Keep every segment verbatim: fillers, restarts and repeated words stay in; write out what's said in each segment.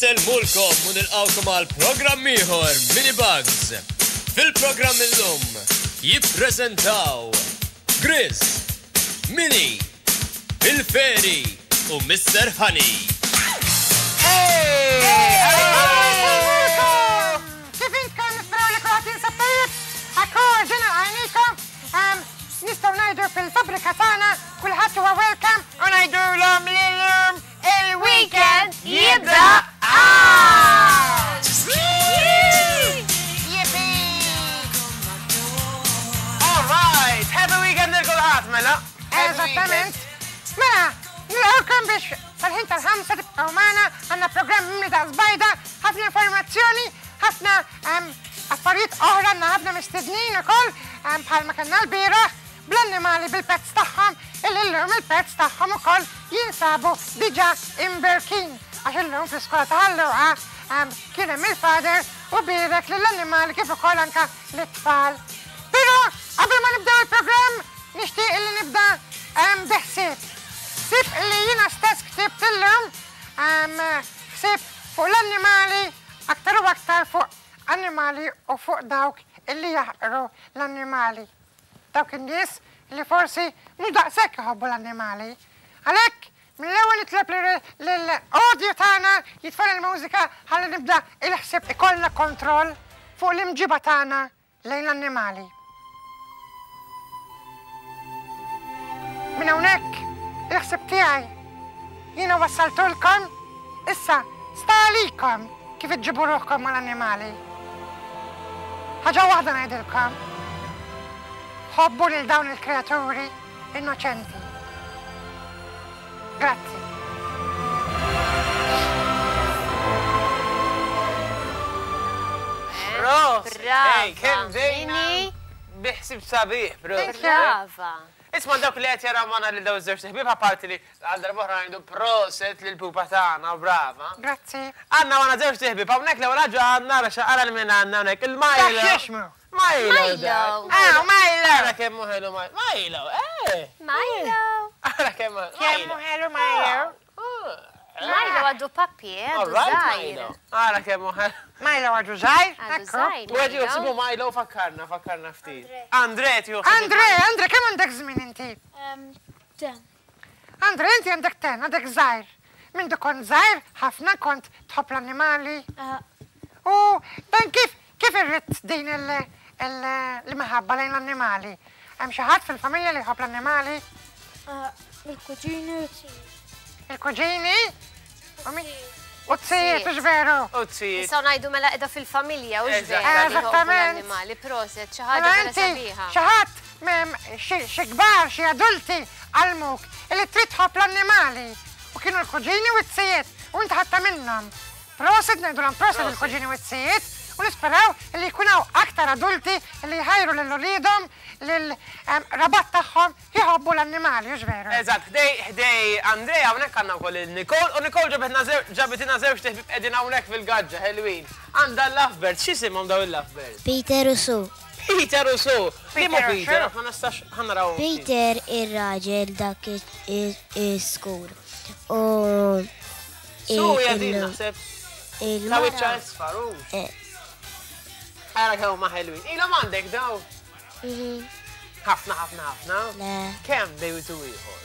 Insellmulkom u nilqawkom għal programm ieħor Mini Bugs. Fil-programm illum jippreżentaw Grizz, Mini, Il-Feri u Mister Honey. Kif intkom, nisperaw li kulħadd jinsab tajjeb? Akkur ġena għajnikom, nistgħu ngħidu fil-fabrika tagħna kulħadd huwa welcome u ngħidulhom li llum il-weekend jibda għad! Yippee! All right, happy weekend lil kulħadd mela. Eżattament. Mela, nilqgħukom biex sal-ħin tal-ħamsa tibqgħu magħna, għandna programm mimli ta' żbajda, ħafna informazzjoni, ħafna affarijiet oħra, għandna ħafna mistednin ukoll bħalma kellna l-bieraħ bl-annimali bil-pets tagħhom, illum il-pets tagħhom ukoll jinsabu diġà imberkin. Għax illum fl-iskola ta' Ħal Luqa kien hemm il-father u bierek lill-annimali kif ukoll anke lit-tfal. Però qabel ma nibdew il-programm nixtieq illi nibda bi ħsieb. Ħsieb illi jiena stess ktibt illum, ħsieb fuq l-annimali, aktar u aktar fuq annimali u fuq dawk illi jaħqru l-annimali. Dawk in-nies li forsi mhux daqshekk iħobbu l-annimali. Għalhekk mill-ewwel nitlob lill-audio tagħna jitfel il-mużika ħalli nibda il-ħsieb ikollna kontroll fuq l-imġiba tagħna lejn l-annimali. Minn hawnhekk il-ħsieb tiegħi jiena wassaltulkom, issa sta għalikom kif iġġibu ruħkom mal-annimali. Ħaġa waħda ngħidilkom, ħobbu lil dawn il-kreaturi innoċenti. Grazzi. Prosit. Brava. Ej, kemm ġejna Mini. biħsib sabiħ, prosit. Thank you. Brava. Isma' dawk li qed jaraw magħna lil dawn iż-żewġ ħbieb, apparti li għal darba oħra ngħidu proset lil pupa tagħna, brava. Grazzi. Għandna magħna żewġ ħbieb, hawnhekk l-ewwel ħaġa għandna ara x'aqra li minn għandna hawnhekk, il-Milo. Dak x'jismu? Milo. Milo. dak. Ah, Milo. Ara kemm hu ħelu Milo. Milo, eh. Milo. Ara kemm hu Kemm hu ħelu Milo. Milo għadu papi, eh, għadu All right, żgħir. Milo. Ara kemm hu ħelu. Milo għadu żgħir, Għadu ekku. żgħir. U għadu Milo. jħsibu Milo, fakkarna, fakkarna ftit. Andre, tjuħsibu. Andre, Andre, kemm għandek żmien inti? Ten. Andre, inti għandek ten, għandek żgħir. Mindu kont żgħir, ħafna kont tħobb l-annimali. U dan kif, kif irrid din il-, il-, l-imħabba lejn l-annimali? Hemm xi ħadd fil-familja li jħobb l-annimali? Il-kuġini u t-sijiet. Il-kuġini? U min? U t-sijiet, hux veru? U t-sijiet. Nistgħu ngħidu mela qiegħda fil-familja, hux Eżatt. veru? Li jħobbu Eżattament. l-annimali, proset, xi ħaġa Mela vera inti, sabiħa. xi ħadd mem xi, xi kbar, xi adulti għallmuk illi trid tħobb l-annimali. U kienu l-kuġini u t-sijiet, u inti ħadta minnhom. Proset, ngħidulhom proset Proset. il-kuġini u t-sijiet, u nisperaw illi jkun hawn aktar adulti illi jħajru lil uliedhom, lil, em, rabat tagħhom jħobbu l-annimali, hux veru? Eżatt, ħdej, ħdej Andrea hawnhekk għandna wkoll il Nicole, u Nicole ġabitna zew-, ġabitina żewġ teħbib qegħdin hawnhekk fil-gaġġa ħelwin. Għandha l-Lovebirds, x'isimhom daw il-Lovebirds? Peter u Sue. Peter u Sue. Liema Peter u Peter? Sue. Ma nistax ħanaraw. Peter ir-raġel dak is-skur. U Sue hija din il- naħseb. il-mara- Ta' wiċċha isfar, hux. Eh. Ara kemm huma ħelwin. Ilhom għandek daw? Mhm. Ħafna, ħafna, ħafna. Le. Kemm bejtu ieħor?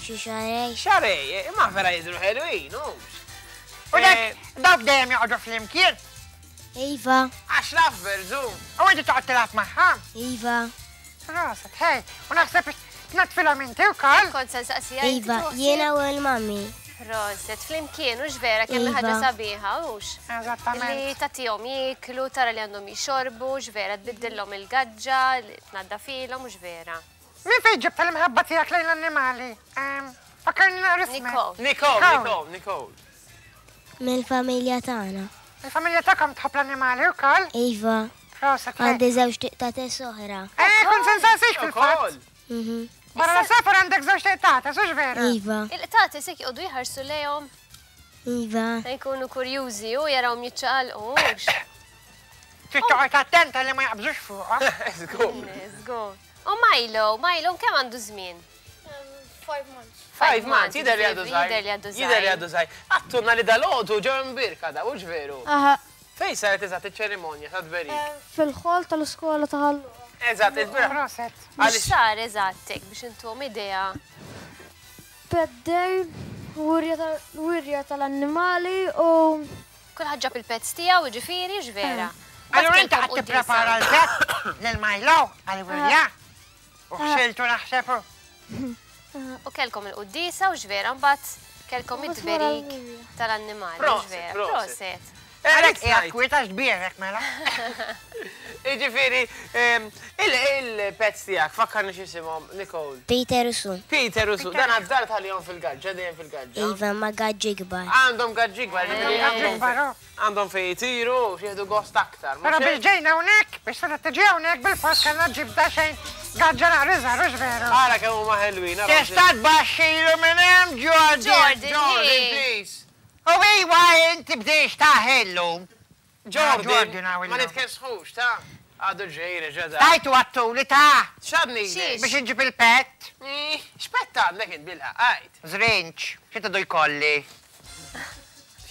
Xi xarej. Xarej, imma vera jidhru ħelwin, hux. U dak, dawk dejjem joqogħdu flimkien. Iva. Għax Lovebirds, hu. U inti toqgħod tilgħab magħha. Iva. Proset, hej, u naħseb tnaddfilhom inti wkoll. Kont se nsaqsiha inti Iva, toħsib? jiena u l-mami. Proset, flimkien, hux vera, kemm Iva. ħaġa sabiħa, hux? Eżattament. Li tagħtihom jieklu, tara li għandhom jixorbu, hux vera, tbiddilhom il-gaġġa, tnaddafilhom, hux vera. Min fejn ġibta l-imħabba tiegħek lejn l-annimali? Ehm, Fakkarni naqra ismek. Nicole. Nicole, Nicole. Nicole, Nicole. Mill-familja tagħna. Il-familja tagħkom tħobb l-annimali wkoll? Iva. Proset, hej. Għandi żewġ tiqtates oħra. Eh, kont se nsaqsik fil-fatt. Ukoll. Mhm. Barra l-safar għandek żewġ tiqtates, hux veru? Iva. Il-qtates jekk joqogħdu jħarsu lejhom, Iva. jkunu kurjużi u jarawhom jiċċaqalqu, hux? Trid toqgħod attenta li ma jaqbżux fuqha. Żgur. Żgur. U Milo, Milo kemm għandu żmien? Five months. Five months, jidher li għadu żgħir. Jidher li għadu żgħir. Jidher li għadu żgħir. Għedtulna li dalgħodu ġew imbierka da, hux veru? Aha. Fejn saret eżatt iċ-ċerimonja ta' tberik? Fil-hall tal-iskola ta' Ħal Luqa. Eżatt, il-bieraħ. Proset. Għaliex X'sar eżatt hekk biex intuhom idea? Pet Day, wirja tal-annimali u Kulħadd ġab il-pets tiegħu, jiġifieri, x'vera. Allura inti qed tipprepara l-pet lil Milo għal-wirja. U ħsiltu naħseb. U kellkom il-quddiesa u x'vera, mbagħad kellkom Mbagħad wara it-tberik l-wirja. tal-annimali, Proset, x'vera. proset. Proset. Għalek qiegħed kwieta x'bierek mela. Jiġifieri, il-pets tiegħek, fakkarni x'isimhom, Nicole. Peter u Sue. Peter u Sue, dan għad-dar tal-jom fil-gaġġa, dejjem fil-gaġġa. Iva ma gaġġi kbar. Għandhom gaġġi kbar, jiġifieri għandhom Kbar, oh. għandhom fejn jtiru, xieħdu gost aktar. mhux Però hekk? biex ġejna hawnhekk, biex seta tiġi hawnhekk bil-post kellna ġib xejn gaġġa naqra żgħar, hux veru. Ara kemm huma ħelwin. ara Tista' tbaxxilu minn hemm Jordan. Jordan, Jordan, hey. please. U iwa inti bdejx taħellu. Jordan, Jordan hawn ma illum. nitkessħux, ta' għadu ġejri ġeda. Tajtu għattuli ta' X'għadni? Xiex? biex inġib il-pet. X'pet għandek int bilha, għajt. Zrinċ, xi tidu jkolli?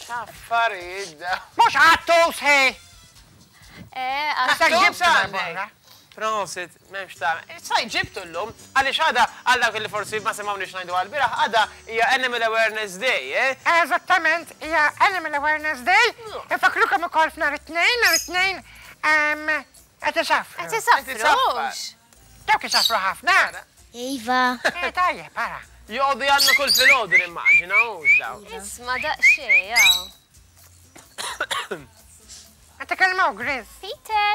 X'affarijiet da. Mhux għattu sħi. Eh, Issa għattu. ġibtu għandek. barra. Prosit, m'hemmx ta' Saj ġibtu llum, għaliex għada għal dawk li forsi ma semgħunix ngħidu għal-bieraħ, għada hija Animal Awareness Day, eh? Eżattament, hija Animal Awareness Day. Infakkrukom ukoll f'nhar it-tnejn, nhar it-tnejn ehm, qed isafru. Qed isafrux. Dawk isafru ħafna. Iva. Eh, tajjeb, ara. Joqogħdu jgħannu kull filgħodu nimmaġina, hux daw. Isma' daqsxejn, jaw. Qed ikellmu Grizz. Peter,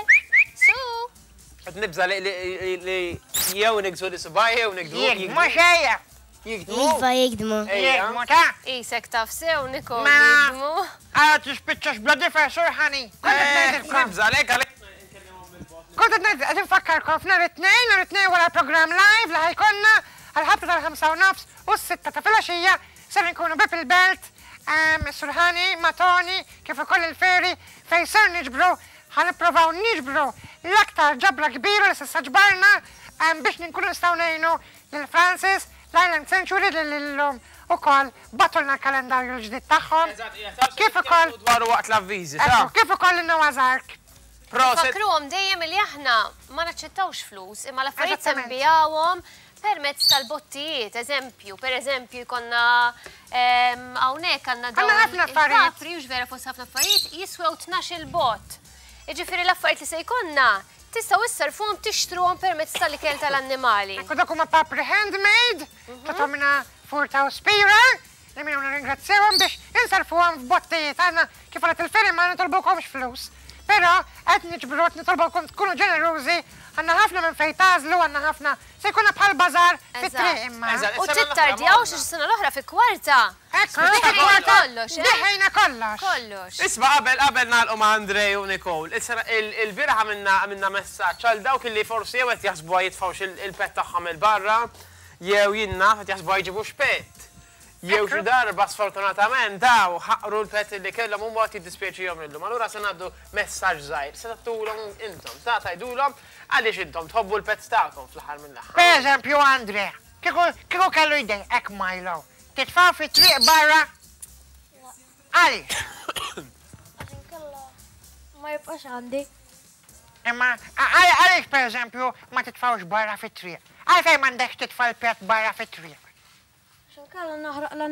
Sue. Qed nibża li li li jew nigżu li subaj jew nigdmu. Jikdmu xejja. Jikdmu. Iva jikdmu. Ejja. Jikdmu ta' Isek taf sew, Nicole, Ma- jikdmu. Għara tispiċċax bla difensur ħani. Kont qed Eh, ngħidilkom. Nibża lek għalek. Kont qed ngħid qed infakkarkom f'nhar it-tnejn, nhar it-tnejn wara l-programm live li ħa jkollna għal-ħabta tal-ħamsa u nofs u s-sitta ta' filgħaxija ser nkunu bib il-belt, ehm, Surħani, Matoni, kif ukoll il-ferry fejn ser niġbru ħa nippruvaw niġbru l-aktar ġabra kbira li s'issa ġbarna ehm, biex nkunu nistgħu ngħinu lil Francis, l-Island Sanctuary li llum ukoll bagħtulna l-kalendarju l-ġdid tagħhom. Kif ukoll Dwaru waqt l-avviżi, ta' Ekku, kif ukoll il-Noah's Ark. Prosit. Fakruhom dejjem li aħna ma naċċettawx flus, imma l-affarijiet se Eżattament. nbijawhom permezz tal-bottijiet, eżempju, per eżempju jkollna ehm, hawnhekk għandna dawn Għandna ħafna affarijiet. il-papri, u vera fost ħafna affarijiet, jiswew tnax-il bott. Jiġifieri l-affarijiet li se jkollna tistgħu issarfuhom tixtruhom permezz tal-ikel tal-annimali. Ekku dak huma papri handmade, ta' Tomina Furta u Spira, li minnu nirringrazzjawhom biex insarfuhom f'bottijiet. Għandna kif qalet il-ferry ma nitolbukomx flus. Però qed niġbru qed nitolbukom tkunu ġenerużi, għandna ħafna minn fejn tagħżlu, għandna ħafna se jkunna bħal bażar fit-triq imma. Eżatt. U Is-sena l-oħra tittardjawx morna. is-sena l-oħra fi kwarta. Ekku, Dħejna kollox, eh? Dħejna kollox. Kollox. Isma' qabel qabel nagħlqu ma' Andrej u Nicole. Is-sena il-bieraħ għamilna għamilna messaġġ għal dawk li forsi jew qed jaħsbuha jitfgħux il-pet tagħhom il-barra, jew jinna qed jaħsbuha jġibux pet. Jew xi darba sfortunatament daw ħaqru l-pet li kellhom huma qed jiddispjaċihom illum. Allura se ngħaddu messaġġ żgħir, se tagħtulhom intom, ta' tgħidulhom għaliex intom tħobbu l-pets tagħkom fl-aħħar mill-aħħar. Per eżempju, Andre, kieku kieku kellu jdejqek Milo, titfa' fit-triq barra? Għaliex? Għax inkella ma jibqax għandi. Imma għal- għaliex per eżempju ma titfawx barra fit-triq? Għalfejn m'għandekx titfa' l-pet barra fit-triq? Għax inkella naħraq l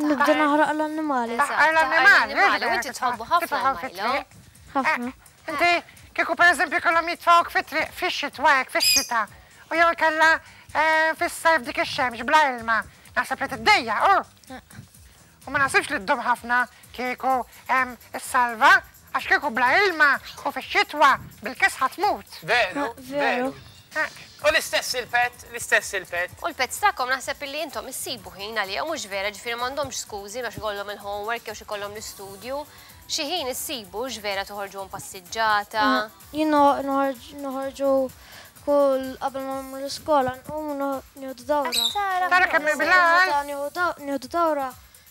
nibda naħraq l-annimali. Taħqar l-annimali, l-annimali, u inti tħobbu ħafna titfgħu l-Milo. fit-triq. Ħafna. Eh, Inti kieku per eżempju kellhom jitfgħuk fit-triq fix-xitwa hekk fix-xita u jew kella eh, fis-sajf dik ix-xemx bla ilma. Naħseb li tiddejja, u. U ma naħsibx li ddum ħafna kieku em, is-salva għax kieku bla ilma u fix-xitwa bil-kesħa tmut. Veru, Veru. veru. U l-istess il-pet, l-istess il-pet. U l-pets tagħkom naħseb illi intom issibu ħin għalihom mhux vera, ġifieri m'għandhomx skużi għax ikollhom il-homework jew xi jkollhom l-istudju. Xi ħin issibu vera toħorġuhom passiġġata. Jien noħorġu kull qabel ma mmur l-iskola nqumu nieħdu dawra. Tara kemm il-bilal. Meta nieħdu dawra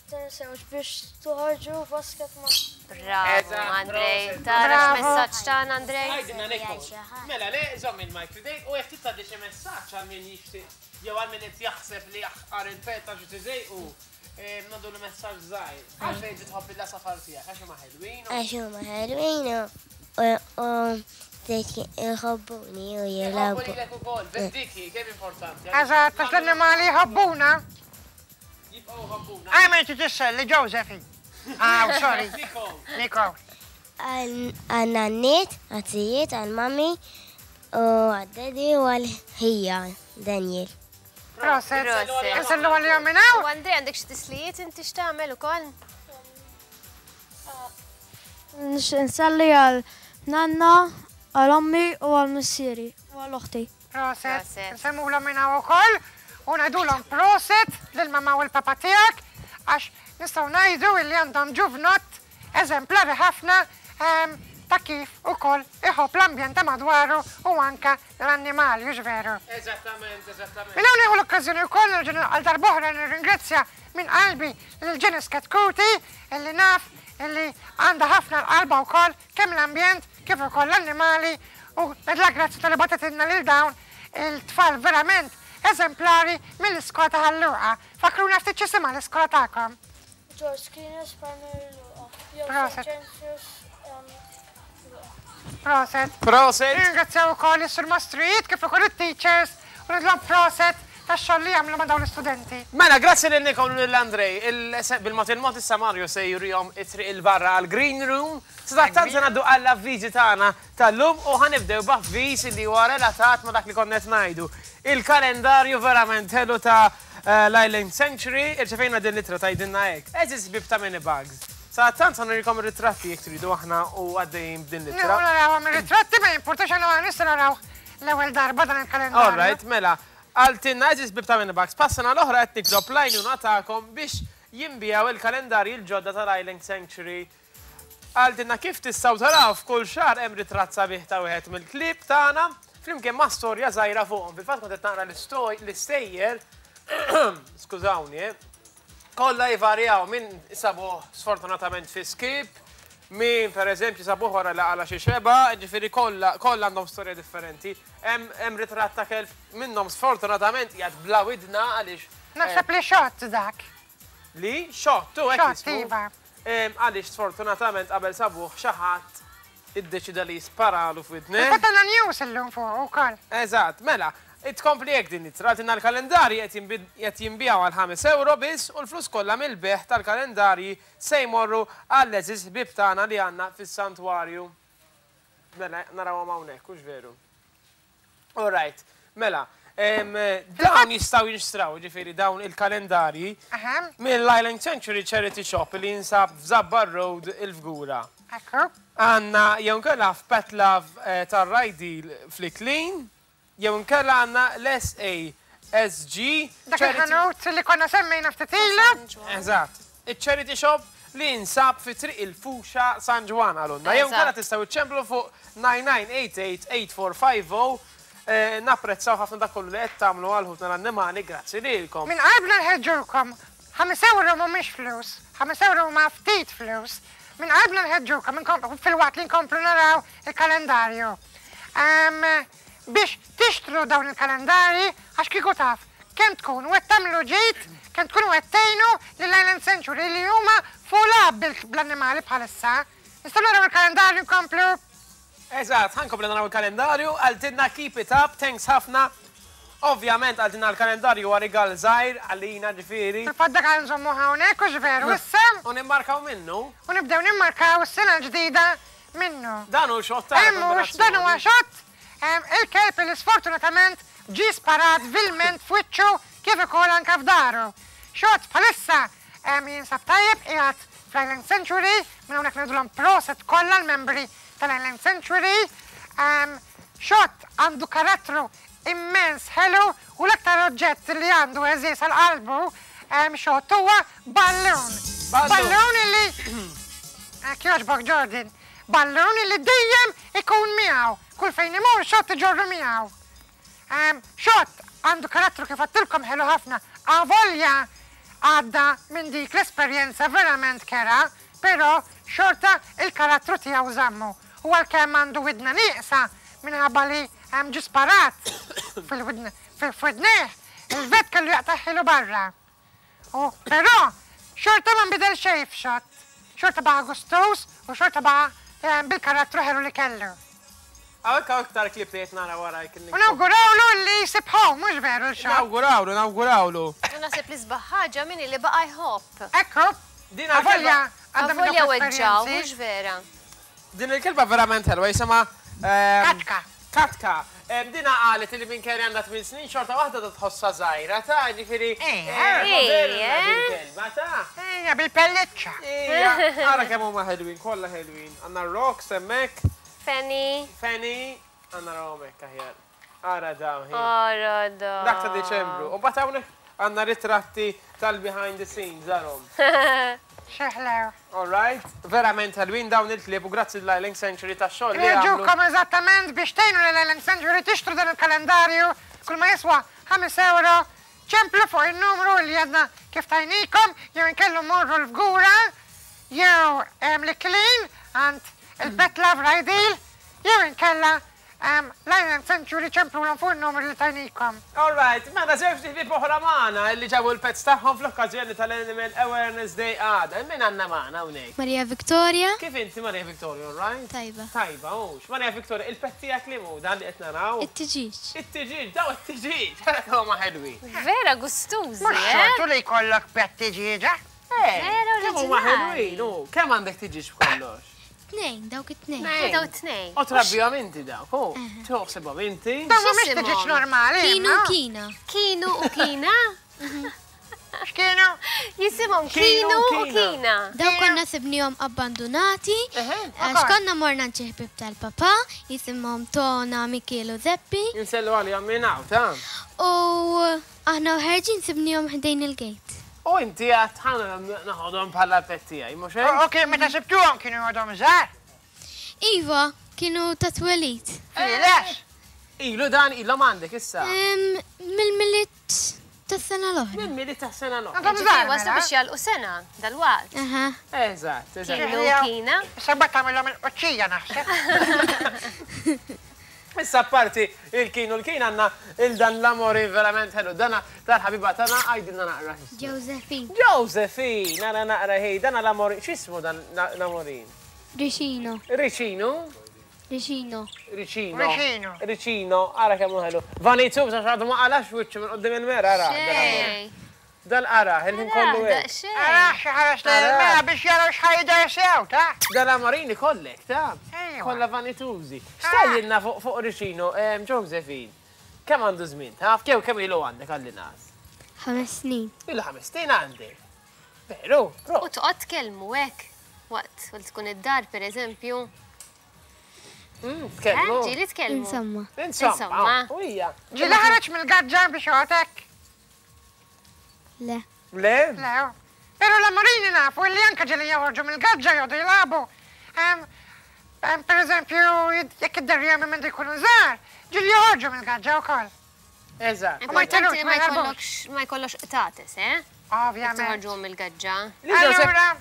tinsewx biex toħorġu basket ma' Bravo, Eżatt, Andrej. proset. Tara Bravo. x'messaġġ tagħna, Andrej. Għajdinna Nicole. Mela, le, żomm il-mic f'idejk u jekk titgħaddi xi messaġġ għal min jixtieq jew għal min qed jaħseb li jaħqar il-pet għax tiżejqu, ngħaddu l-messaġġ żgħir. Għalfejn inti tħobb il-għasafar tiegħek għax huma ħelwin? Għax huma ħelwin u jħobbuni u jilagħbu. Jħobbu lilek ukoll, dik hi kemm importanti. Eżatt, għax l-annimali jħobbuna. Jibqgħu jħobbuna. Għamel titissel li Josephi. Ah, sorry. Nicole. Għal-nanniet, għat-zijiet, għal-mami u għad-daddy u għal-ħija, Daniel. Proset. Proset. Insellu għal-jom minn hawn. U Andrea, għandek xi tislijiet inti x'tagħmel ukoll? Nselli għal nanna, għal ommi u għal missieri u għal oħti. Proset. Proset. Nsellmulhom minn hawn ukoll u ngħidulhom proset lill-mamma u l-papa tiegħek għax nistgħu ngħidu illi għandhom ġuvnott eżemplari ħafna ehm, ta' kif ukoll iħobb l-ambjent ta' madwaru u anka l-annimali, hux veru. Eżattament, eżattament. Minn hawn nieħu l-okkażjoni wkoll nerġa' għal darb'oħra nirringrazzja minn qalbi lil Janice Chetcuti illi naf illi għandha ħafna l-qalba wkoll kemm l-ambjent kif ukoll l-annimali u ngħidilha grazzi talli bagħtitilna lil dawn il-tfal verament eżemplari mill-iskola ta' Ħal Luqa. Fakruna ftit x'isimha l-iskola tagħkom. George Kines Primary Luqa. Jew Proset. Saint James's um, Luqa. Proset. Proset. Ringrazzjaw ukoll is-Sur Mastrijiet kif ukoll it-teachers u ngħidilhom proset tax-xogħol li jagħmlu ma' dawn l-istudenti. Mela, grazzi lil Nicole u lil Andrej. Bil-mod il-mod issa Mario se jurihom it-triq il-barra għal Green Room. Sadattant se ngħaddu għall-avviżi tagħna tal-lum u ħa nibdew b'avviż li huwa relatat ma' dak li konna qed ngħidu. Il-kalendarju verament ħelu ta' eh, l-Island Sanctuary, irċevejna din l-ittra tgħidilna hekk. Għeżież ħbieb ta' Mini Bugs. Sadattant ħa nurikom ir-ritratti jekk tridu aħna u għaddejjin b'din l-ittra. Nieħu narawhom ir-ritratti ma jimpurtax għandna nistgħu naraw l-ewwel darba dan il-kalendarju. All right, mela, qaltilna għeżież ħbieb ta' Mini Bugs, pas-sena l-oħra qed nitlob l-għajnuna tagħkom biex jinbiegħu il-kalendarji l-ġodda tal-Island Sanctuary. Qaltilna kif tistgħu taraw f'kull xahar hemm ritratt sabiħ ta' wieħed mill-klieb tagħna flimkien ma' storja żgħira fuqhom. Fil-fatt kont qed naqra l-istejjer, skużawni, eh, kollha jvarjaw minn sabuh sfortunatament fi skip, min per eżempju sabuh wara li qala' xi xeba, ġifieri kollha kollha għandhom storja differenti. Hemm hemm ritratt ta' kelb minnhom sfortunatament qiegħed bla widna għaliex Naħseb li xott dak. li xottu hekk Xott, jismu. iva. Em, Għaliex sfortunatament qabel sabuh xi ħadd iddeċida li jisparalu f'widneh. Fil-fatt għandna news illum fuq ukoll. Eżatt, mela, tkompli hekk din l-ittra, qaltilna l-kalendarji qed jinbiegħu għal ħames euro biss u l-flus kollha mill-bejgħ tal-kalendarji se jmorru għall-għeżież ħbieb tagħna li għandna fis-santwarju. Mela, narawhom hawnhekk, hux veru. All right, mela, em, dawn jistgħu jinxtraw, ġifieri dawn il-kalendarji Aha, mill-Island Sanctuary Charity Shop li jinsab f'Żabbar Road il-Fgura. ekku. Għandna jew nkella f'Pet Love eh, tar-Rajdil fl-Iklin, jew nkella għandna l-S A S G Dak Charity- il-ħanut li konna semmejna ftit ilu. Eżatt. Il-Charity Shop li jinsab fi Triq il-Fuxa San Ġwann għalunna. Jew nkella Eżatt. tistgħu iċċemplu fuq nine nine eight eight eight four five zero. Eh, Napprezzaw ħafna dak kollu li qed tagħmlu għal ħutna l-annimali, grazzi lilkom. Minn qalbna nħeġġukom. Ħames euro mhumiex flus, ħames euro ma ftit flus. Minn qalbna nħeġġukom inkom- filwaqt li nkomplu naraw il-kalendarju. Em, biex tixtru dawn il-kalendarji għax kieku taf kemm tkun u qed tagħmlu ġid, kemm tkunu qed tgħinu lill-Island Sanctuary li huma full up bil- bl-annimali bħalissa. Nistgħu naraw il-kalendarju nkomplu. Eżatt, ħa nkomplu naraw il-kalendarju, qaltilna keep it up, thanks ħafna. Ovvjament qaltilna l-kalendarju huwa rigal żgħir għalina ġifieri. Fil-fatt dak ħa nżommu hawnhekk u veru issa U nimmarkaw minnu, u nibdew nimmarkaw is-sena l-ġdida minnu. Dan hu xott ta' Hemm mhux dan huwa xott em, il-kelb li sfortunatament ġi sparat vilment f'wiċċu kif ukoll anke f'daru. Xott bħalissa em, jinsab tajjeb qiegħed fl-Island Sanctuary, minn hawnhekk ngħidulhom proset kollha l-membri tal-Island Sanctuary. Em, Xott għandu karattru immens ħelu u l-aktar oġġett li għandu għeżież għal qalbu em, xott huwa ballun. Ballun. Ballun illi kjoġbok Jordan, ballun illi dejjem ikun miegħu. Kull fejn imur xott iġorru miegħu. Em, Xott għandu karattru kif għedtilkom ħelu ħafna. Avolja għadda minn dik l-esperjenza verament kerha, però xorta il-karattru tiegħu żammu. U għalkemm għandu widna nieqsa minħabba li hemm ġi sparat fil-widna fil-widneh, Il-vet kellu jaqtagħhielu barra. U però xorta ma nbidel xejn f'Xott. Xorta baqa' gustuż u xorta baqa' eh, bil-karattru ħelu li kellu. Hawnhekk hawn iktar klieb li qed nara warajk. U nawgurawlu li jsib home, mhux veru l-Xott. Nawgurawlu, nawgurawlu. U naħseb li sbaħ ħaġa minni li baqa' jħobb. Ekku, Din avolja il-kelba- għadda minn Avolja dawk weġġaw, l-esperjenzi. mhux vera. Din il-kelba verament ħelwa jisimha ehm, Katka. Katka. Ehm, Dina qalet li minn kelli għandha tmien snin xorta waħda da tħossha żgħira ta' ġifieri. Eh, eh, moderna eh. din kelba ta' Ejja, bil-pelliċċa. Ija, ara kemm huma ħelwin, kollha ħelwin. Għandna Rox hemmhekk, Fanny. Fanny, għandna hemmhekk aħjar. Ara dawn hi. Ara da. Dak ta' Deċembru. U mbagħad hawnhekk għandna ritratti tal-behind the scenes arahom. Xeħlew. All right, verament ħelwin dawn il-klieb u grazzi l-Island Sanctuary tax-xogħol li għamlu. Irġukom eżattament biex tgħinu l-Island Sanctuary tixtru dan il-kalendarju kull ma jiswa ħames euro ċemplu fuq il-numru li għadna kif tajnikom jew inkellu morru l-Fgura jew em, l-Iklin għand il-Pet Love Rajdil jew inkella em, l-Island Sanctuary ċemplu l fuq il-numru li tajnikom. All right, mela żewġ ħbieb oħra magħna li ġabu l-pets tagħhom fl-okkażjoni tal-Animal Awareness Day għada. Min għandna magħna hawnhekk? Maria Victoria. Kif inti Maria Victoria, all right? Tajba. Tajba, hux. Maria Victoria, il-pet tiegħek li mu dan li qed naraw? It-tiġiġ. It-tiġiġ, daw it-tiġiġ, ara kemm huma ħelwin. Vera gustużi, Mhux eh? xortu li jkollok pet tiġieġa. Eh, Vera kemm huma oriġinali. ħelwin, u kemm għandek tiġiġ b'kollox? Tnejn, dawk it-tnejn. Daw tnejn. U trabbihom inti dawk, u toħsibhom inti. Dawn mhumiex X'isimhom? tiġieġ normali. Kinu imma. Kina. Kinu u Kina? X'kienu? Jisimhom Kinu Kinu u u Kina. Kina. Dawk konna sibnihom abbandonati. Għax konna morna ħbieb tal-papa, jisimhom Tona, Mikiel u Zeppi. Insellu għalihom minn hawn, ta' U aħna ħerġin sibnihom ħdejn il-gate. U inti għedt ħa neħodhom bħala pet tiegħi, mhux hekk? Ok, meta sibtuhom kienu għadhom żgħar. Iva, kienu ta' twelid. Filex. Ilu dan ilhom għandek issa. Em, Mill-Milied tas-sena l-oħra. Minn Milied tas-sena l-oħra. Għadhom Ġifieri żgħar. waslu mela. biex jagħlqu sena dal-waqt. Aha. Eżatt, eżatt. Kinu u Kina. Issa bat tagħmilhom il-qoċċija naħseb. Issa parti il-Kinu l-Kina għandna il-dan l-amorin verament ħelu. Dana tal-ħabiba tagħna għajdilna naqra. Josephine. Josephine, nara naqra ħej, dana l-amorin. X'ismu dan l-amorin? Ricino. Ricino? Ricino. Ricino. Ricino. Ricino, ara kemm hu ħelu. Vanitu, biex għadu ma qalax wiċċu minn qudiem il-mera, ara. Xej. Dal-ara, il-ħin kollu Ara, hekk. xej. Ara xi ħares lejn biex jaraw x'ħajder sew, ta' Dal-amorini kollek, ta' Ejwa. kollha vanitużi. X'tgħidilna fuq fuq Ricino, em, Josephine? Kemm għandu żmien? Taf kemm kemm ilu għandek għalli nas? Ħames snin. Ilu ħames snin għandek. Veru, pro. U toqgħod tkellmu hekk waqt li tkun id-dar pereżempju. Mm, Eh, Tkellmu. Ġieli tkellmu. Insomma. Insomma, Insomma. u hija. Ġieli ħareġ mill-gaġġa biex joqgħodek. Le. Le? Le. Però l-amorini nafu li anke ġieli joħorġu mill-gaġġa joqogħdu jilagħbu. Em, em, Per eżempju, jekk id-derrija minn jkunu żgħar, ġieli joħorġu mill-gaġġa wkoll. Eżatt. U ma Importanti jtelux, li ma ma jħarbux. jkollokx ma jkollokx qtates, eh? Jekk Ovvjament. toħorġuhom mill-gaġġa. Li Joseph- Allura,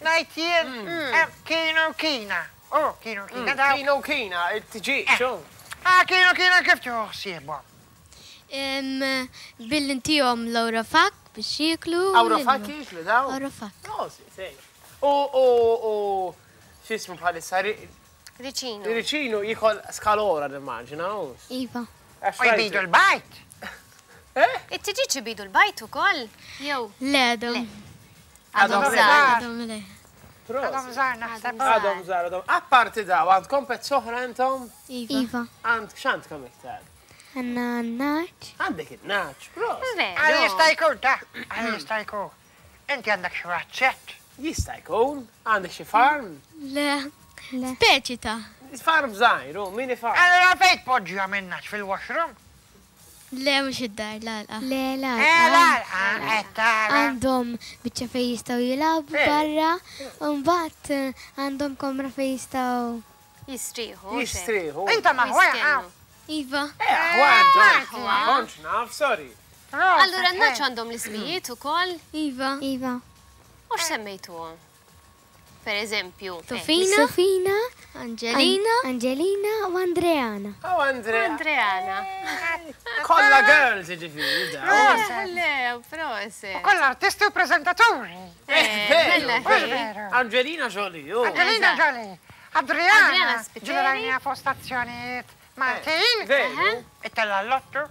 ngħid jien, em, Kinu Kina. Oh, Kinu Kina daw. Kino Kina, it-tiġi, xo? Ah, Kinu Kina kif tieħu ħsiebhom? Em, Billi ntihom l-Awrofak biex jieklu. Awrofak jieklu daw? Awrofak. Oh, si, si. U, u, u, x'ismu bħalissa, Ri- Riċinu. Ricino jiekol skalora nimmaġina, u. Iva. Għax U jbidu l-bajd. Eh? It-tiġiġ ibidu l-bajt ukoll? Jew. Le, għadhom. Għadhom Għadhom żgħar. żgħar. Għadhom le. Għadhom żgħar naħseb. Għadhom żgħar, għadhom. Apparti daw, għandkom pets oħra intom? Iva. Iva. Għand, x'għandkom iktar? Għandna nagħaġ. Għandek it-nagħaġ, prost. Għal Veru. jista' jkun, ta' għal jista' jkun. Inti għandek xi razzett. Jista' jkun, għandek xi farm? Le. Le. Speċi ta' Farm żgħir, u mini farm. Allura fejn tpoġġiha minnax fil-washroom? Le, mhux id-dar, l-għalqa. Le, la. Eh, l-għalqa, qed tara. Għandhom biċċa fej jistgħu jilagħbu Eh. barra, u mbagħad eh, għandhom kamra fej jistgħu. Jistrieħu. xejn. Jistrieħu. Inta maħwa, Jistennu. Iva. Eh, għandhom. Aħwa. Kontx naf, sorry. Allura n-nagħaġ għandhom l-ismijiet ukoll? Iva. Iva. U x'semmejtuhom? per eżempju. Sofina, Sofina, Angelina, Angelina u Andreana. Oh, Andrea. Andreana. Kolla girls, ġifieri, da. Le, proset. U kollha artisti u preżentaturi. Eh, Bella, veru. Mhux veru. Angelina Jolie, oh. Angelina Jolie. Adriana Adriana, Spiteri. ġeneralina fuq stazzjonijiet Maltin. Veru. It-tella l-lottu.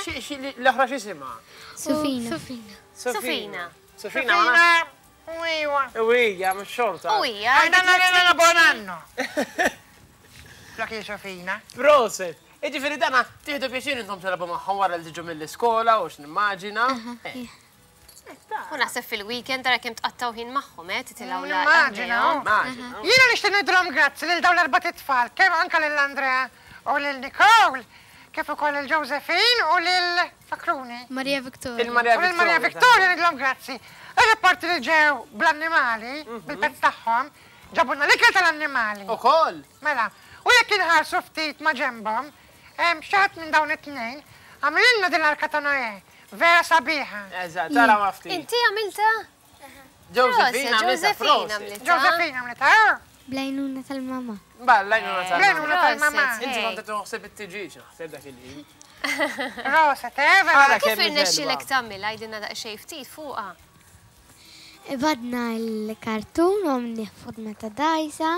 Xi- xi- L-oħra x'isimha? Sofina. Sofina. Sofina. Sofina, ma nafx. Sofina, u iwa. U hija, mhux xorta. U hija. Għajna nagħna buon anno. Flok Sofina. Proset. Iġifieri dana, tieħdu pjaċir intom tilagħbu magħhom wara li tiġu mill-iskola u x'nimmaġina. Eh, U naħseb fil-weekend tara kemm tqattaw ħin magħhom, eh, titilgħu la. Nimmaġina, oh. Immaġina. Jiena nixtieq ngħidilhom grazzi lil dawn l-erbat itfal, kemm anke lil Andrea u lil Nicole, kif ukoll lil Josephine u lil Fakruni. Maria Victoria. Il-Maria U lil Maria Victoria ngħidilhom grazzi. Ir-rapporti li ġew bl-annimali, bil-pets tagħhom, ġabulna l-ikel tal-annimali. Ukoll. Mela, u jekk inħarsu ftit ma' ġembhom, hemm xi ħadd minn dawn it-tnejn għamlilna din l-arka ta' Noè, vera sabiħa. Eżatt, tara ma ftit. Inti għamilta? Josephine għamilta Josephine proset. għamlitha. Josephine għamlitha, oh, Bl-għajnuna tal-mama. Balla, jnuna tal Bl-għajnuna tal-mama. Inti kont toħseb it-tiġiġ, naħseb dak il-ħin. Proset, eh, vera. Ara Kif kemm hi irnexxielek ħelwa. tagħmilha għidilna daqsxejn ftit fuqha? Badna l-kartun u għamilnieh forma ta' dajsa.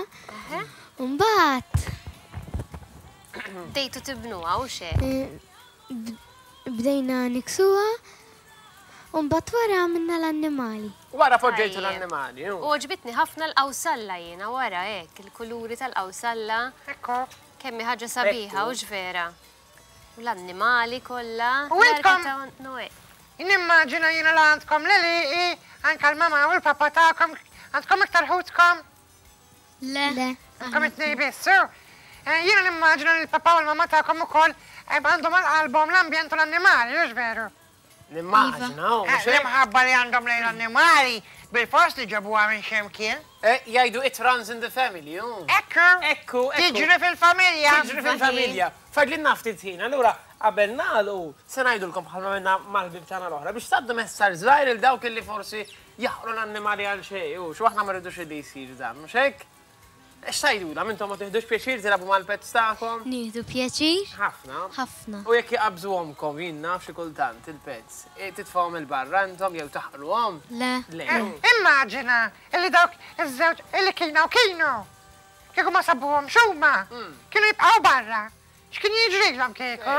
Mbagħad Bdejtu tibnuha u xe. eh, b- bdejna niksuha u mbagħad wara għamilna l-annimali. Wara poġġejtu Tajjeb. l-annimali. U għoġbitni ħafna l-qawsalla jiena wara hekk, il-kuluri tal-qawsalla, Ekku. kemm hi ħaġa sabiħa u vera. U l-annimali kollha. U l-arka intkom- ta' Noè. Nimmaġina jiena la għandkom lili, anka l-mama u l-papa tagħkom, għandkom iktar ħutkom, Le. Le. għandkom it-tnejn biss. so. Eh, Jiena nimmaġina li l-papa u l-mama tagħkom ukoll eh, għandhom għal-qalbhom l-ambjent u l-annimali, mhux veru? Nimmaġina, u Eh, mhux hekk? L-imħabba li għandhom lejn l-annimali bil-fost li ġabuha minn xemkien. Eh, Jgħidu it runs in the family, u. Ekku, Ekku, ekku. tiġri fil-familja. Tiġri fil-familja. Fadlilna ftit ħin, allura qabel nagħlqu se ngħidulkom bħalma minna mal-ħbieb tagħna l-oħra biex tgħaddu messaġġ żgħir il dawk illi forsi jaħqru l-annimali għal xejn, u xu aħna ma rridux li jsir dan, mhux hekk? X'tgħidulha, intom ma tieħdux pjaċir tilagħbu mal-pets tagħkom? Nieħdu pjaċir. Ħafna. Ħafna. U jekk jaqbżuhomkom jien naf xi kultant il-pets, e, titfgħuhom il-barra intom jew taħqruhom? Le. Le. Eh, Immaġina illi dawk iż-żewġ illi kienu kienu. Kieku ma sabuhom xuma, kienu jibqgħu barra. X'kien jiġrilhom kieku?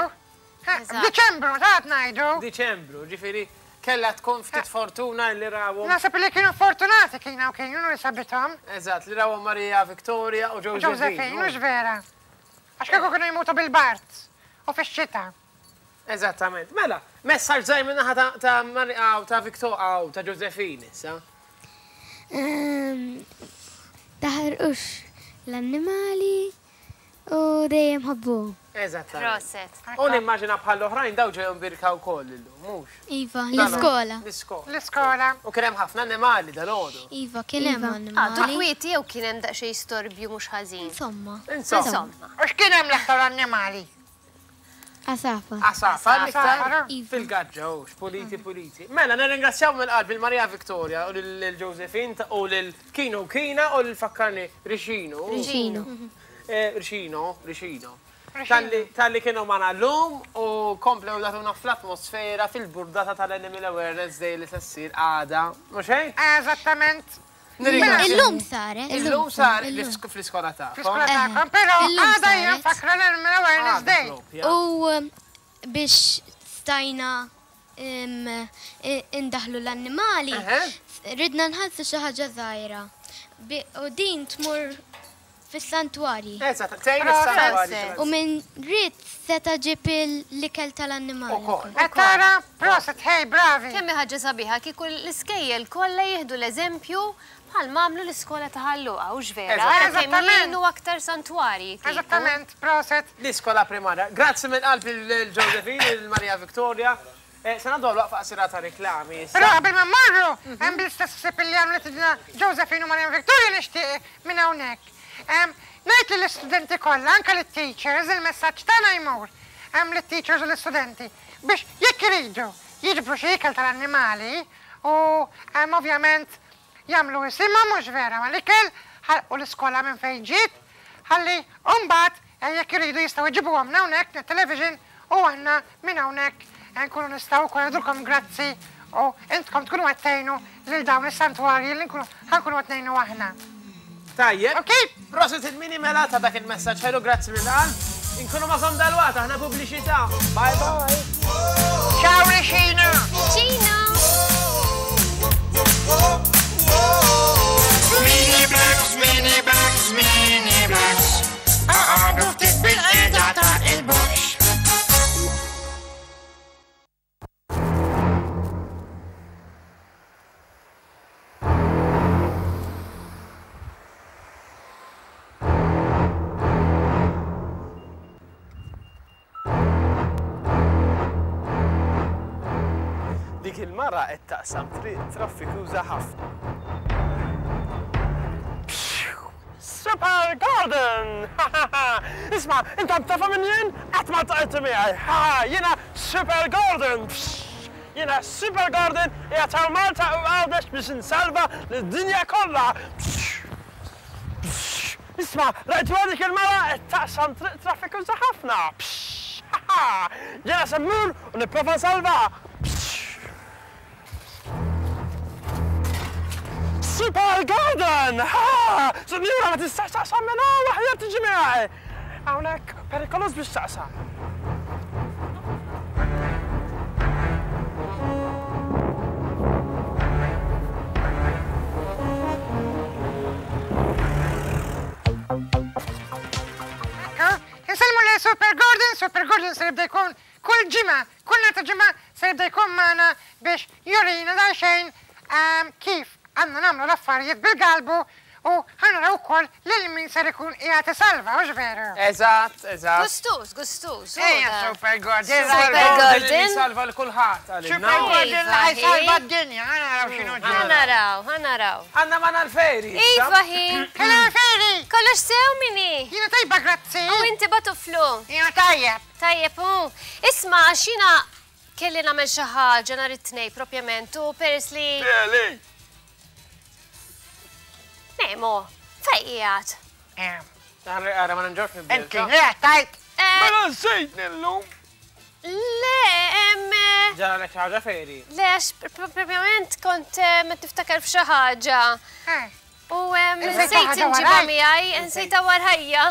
Eh, Eżatt. F'Diċembru, ta' ngħidu. Diċembru, ġifieri kella tkun ftit fortuna li rawhom. Naħseb li kienu fortunati kienu kienu li sabithom. Eżatt, li rawhom Maria Victoria u Josephine. Josephine, mhux vera. Għax kieku kienu jmutu bil-bard u fix-xita. Eżattament. Mela, messaġġ żgħir minn ta' ta' Maria u ta' Victoria u ta' Josephine issa. Ehm, Taħarqux l-annimali u dejjem ħabbuhom. Eżattament. Proset. U nimmaġina bħal oħrajn daw ġew birka wkoll illum, mhux? Iva, l-iskola. L-iskola. L-iskola. U kien hemm ħafna annimali dal-għodu. Iva, kien hemm Għadu annimali. kwieti jew kien hemm daqsxejn storbju mhux ħażin. Insomma. Insomma. Insomma. U x'kien hemm l-aktar annimali? Għasafar. Għasafar l-iktar Għasafar. Iva. fil-gaġġa, u puliti puliti. Mela, nirringrazzjaw mill-qalb il-Maria Victoria u lil Josephine ta- u lil Kino u Kina u lil fakkarni Rixino. Rixino. Eh, Rixino, Rixino. Talli talli kienu magħna llum u komplew jagħtuna fl-atmosfera fil-burdata tal-Animal Awareness Day li se ssir għada. Mhux hekk? Eżattament. Nirringrazzjaw. Illum saret. Illum sar fl-iskola tagħkom. Fl-iskola tagħkom, però Illum għada hija saret. nfakra l-Animal Awareness Għada Day. propja. U um, biex stajna um, i- indaħlu l-annimali, Eħe. ridna nħallsu xi ħaġa żgħira. Bi- U din tmur fis-santwarji. Eżatt, tgħin is-santwarji. U minn ried seta' ġib l-ikel tal-annimali. Ukoll. Qed tara, proset, hey, bravi. Kemm hi ħaġa sabiħa kieku l-iskejjel kollha jieħdu l-eżempju bħal m'għamlu l-iskola ta' Ħal Luqa u vera. Eżatt. Ara kemm Eżattament. jgħinu aktar santwarji. kieku. Eżattament, proset. L-iskola primarja. Grazzi minn qalb il-Josephine, il-Maria Victoria. Eh, Se ngħaddu waqfa qasira ta' reklami. issa. Però qabel ma mmorru, hemm bl-istess ħsieb li għamlet idna Josephine u Maria Victoria nixtieq minn hawnhekk. Em, Ngħid lill-istudenti kollha, anke lit-teachers, il-messaġġ tagħna jmur hemm lit-teachers u l-istudenti biex jekk iridu jiġbru xi ikel tal-annimali u em, ovvjament jagħmlu isimhom mhux vera mal-ikel u l-iskola minn fejn ġiet, ħalli mbagħad jekk iridu jistgħu jġibuhom hawnhekk Net Television u aħna minn hawnhekk nkunu nistgħu wkoll ngħidulkom grazzi u intkom tkunu qed tgħinu lil dawn is-santwarji li nkunu ħankunu qed ngħinu aħna. Tajjeb. Ok. Prosit il-mini mela ta' dak il-messaġġ ħelu, grazzi mill-qalb. Inkunu magħkom dalwaqt, aħna pubbliċità. Bye bye. Ciao Rixina. Rixina. Mini Bugs, Mini Bugs, Mini Bugs. Aqgħodu ftit bil-qiegħda ta' il-box. Dik il-mara qed taqsam triq traffikuża ħafna. Super Gordon! Isma', intom tafa minn jien? Qatt ma ltqajtu miegħi. Ha, jiena Super Gordon! Jiena Super Gordon qiegħed hawn Malta u Għawdex biex insalva lid-dinja kollha. Isma', rajtu dik il-mara qed taqsam triq traffikuża ħafna. Jiena se mmur u nipprova nsalva. Super Gordon! Ha! Sinjura ma tistax taqsam minn hawn, aħjar tiġi miegħi. Hawnhekk perikoluż biex taqsam. Insellmu lil Super Gordon, Super Gordon se jibda jkun kull ġimgħa, kull nhar ta' ġimgħa se jibda jkun magħna biex jurina daqsxejn kif għandna nagħmlu l-affarijiet bil-galbu u ħanaraw ukoll lil min ser ikun qiegħed isalva, hux veru? Eżatt, eżatt. Gustuż, gustuż. Ejja, Super Gordon. Super Gordon. Salva l kulħadd għalina. Super Gordon li ħajsalva d-dinja, ħanaraw x'inhu ġara. Ħanaraw, ħanaraw. Għandna magħna l-Feri. Iva hi. Hello Feri. Kollox sew minni. Jiena tajba grazzi. U inti batuflu. Jiena tajjeb. Tajjeb, u. Isma' għax jiena kelli nagħmel xi ħaġa nhar it-tnejn propjament u peress li. Feri. Nemo, fej qiegħed? Ara ma nġorx nibdel. Inti tajt. Mela nsejtni llum. Le, em. Ġara lek xi ħaġa Feri. Le, għax propjament kont ma tiftakar f'xi ħaġa. U nsejt inġibha miegħi, nsejtha warajja.